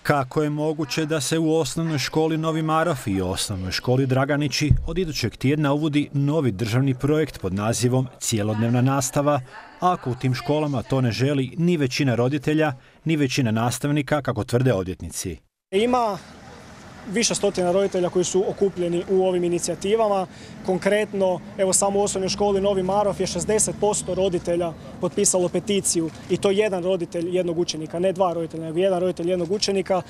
Kako je moguće da se u osnovnoj školi Novi Marof i osnovnoj školi Draganići od idućeg tjedna uvodi novi državni projekt pod nazivom Cjelodnevna nastava, ako u tim školama to ne želi ni većina roditelja, ni većina nastavnika, kako tvrde odvjetnici? Ima više stotina roditelja koji su okupljeni u ovim inicijativama. Konkretno, evo samo u osnovnoj školi Novi Marof je 60% roditelja potpisalo peticiju i to jedan roditelj jednog učenika, ne dva roditelja, nego jedan roditelj jednog učenika.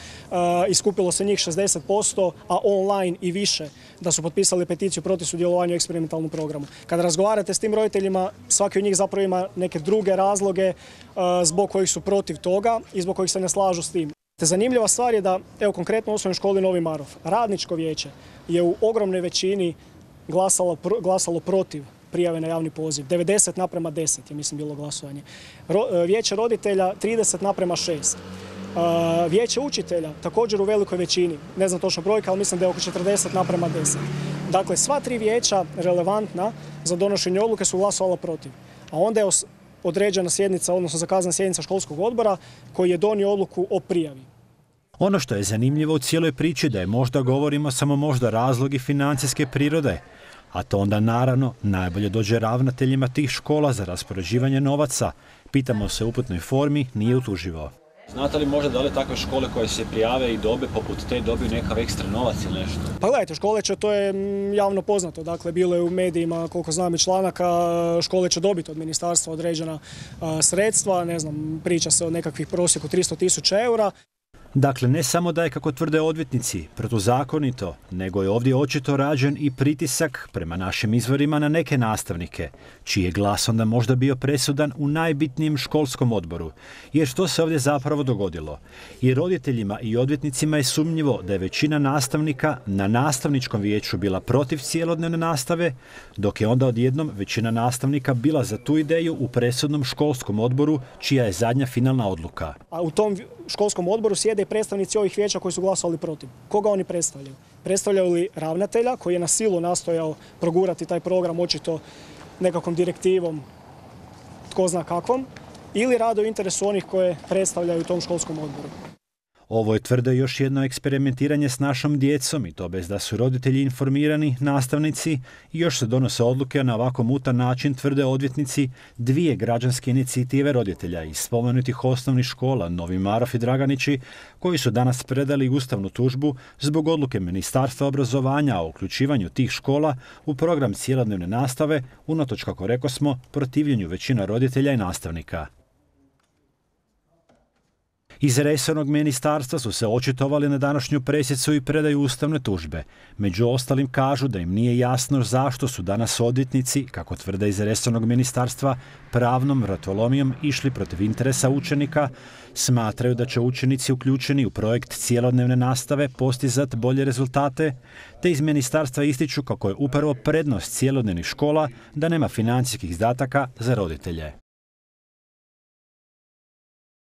Iskupilo se njih 60%, a online i više da su potpisali peticiju protiv sudjelovanja u eksperimentalnom programu. Kada razgovarate s tim roditeljima, svaki od njih zapravo ima neke druge razloge zbog kojih su protiv toga i zbog kojih se ne slažu s tim. Zanimljiva stvar je da, evo konkretno u osnovnoj školi Novi Marof, radničko vijeće je u ogromnoj većini glasalo protiv prijave na javni poziv. 90:10 je, mislim, bilo glasovanje. Vijeće roditelja 30:6. Vijeće učitelja također u velikoj većini, ne znam točno brojka, ali mislim da je oko 40:10. Dakle, sva tri vijeća relevantna za donošenje odluke su glasovala protiv. A onda je određena sjednica, odnosno zakazana sjednica školskog odbora koji je donio odluku o prijavi. Ono što je zanimljivo u cijeloj priči da je možda govorimo samo možda razlogi financijske prirode, a to onda naravno najbolje dođe ravnateljima tih škola za raspoređivanje novaca. Pitamo se u uputnoj formi, nije utuživo. Znate li možda da li takve škole koje se prijave i dobe poput te dobiju nekakav ekstra novac ili nešto? Pa gledajte, škole će, to je javno poznato, dakle bilo je u medijima, koliko znam i članaka, škole će dobiti od ministarstva određena sredstva, ne znam, priča se o nekakvih prosjeku 300.000 eura. Dakle, ne samo da je, kako tvrde odvjetnici, protuzakonito, nego je ovdje očito rađen i pritisak prema našim izvorima na neke nastavnike, čiji je glas onda možda bio presudan u najbitnijem školskom odboru. Jer što se ovdje zapravo dogodilo? I roditeljima i odvjetnicima je sumnjivo da je većina nastavnika na nastavničkom vijeću bila protiv cjelodnevne nastave, dok je onda odjednom većina nastavnika bila za tu ideju u presudnom školskom odboru, čija je zadnja finalna odluka. A u tom školskom odboru sjede i predstavnici ovih vijeća koji su glasovali protiv. Koga oni predstavljaju? Predstavljaju li ravnatelja koji je na silu nastojao progurati taj program očito nekakvom direktivom, tko zna kakvom, ili rade u interesu onih koje predstavljaju u tom školskom odboru? Ovo je, tvrde, još jedno eksperimentiranje s našom djecom i to bez da su roditelji informirani, nastavnici, i još se donose odluke na ovako mutan način, tvrde odvjetnici, dvije građanske inicijative roditelja iz spomenutih osnovnih škola Novi Marof i Draganići, koji su danas predali ustavnu tužbu zbog odluke Ministarstva obrazovanja o uključivanju tih škola u program cjelodnevne nastave, unatoč, kako rekosmo, protivljenju većina roditelja i nastavnika. Iz resornog ministarstva su se očitovali na današnju presicu i predaju ustavne tužbe. Među ostalim kažu da im nije jasno zašto su danas odvjetnici, kako tvrde iz resornog ministarstva, pravnom vratolomijom išli protiv interesa učenika. Smatraju da će učenici uključeni u projekt cjelodnevne nastave postizati bolje rezultate, te iz ministarstva ističu kako je upravo prednost cjelodnevnih škola da nema financijskih izdataka za roditelje.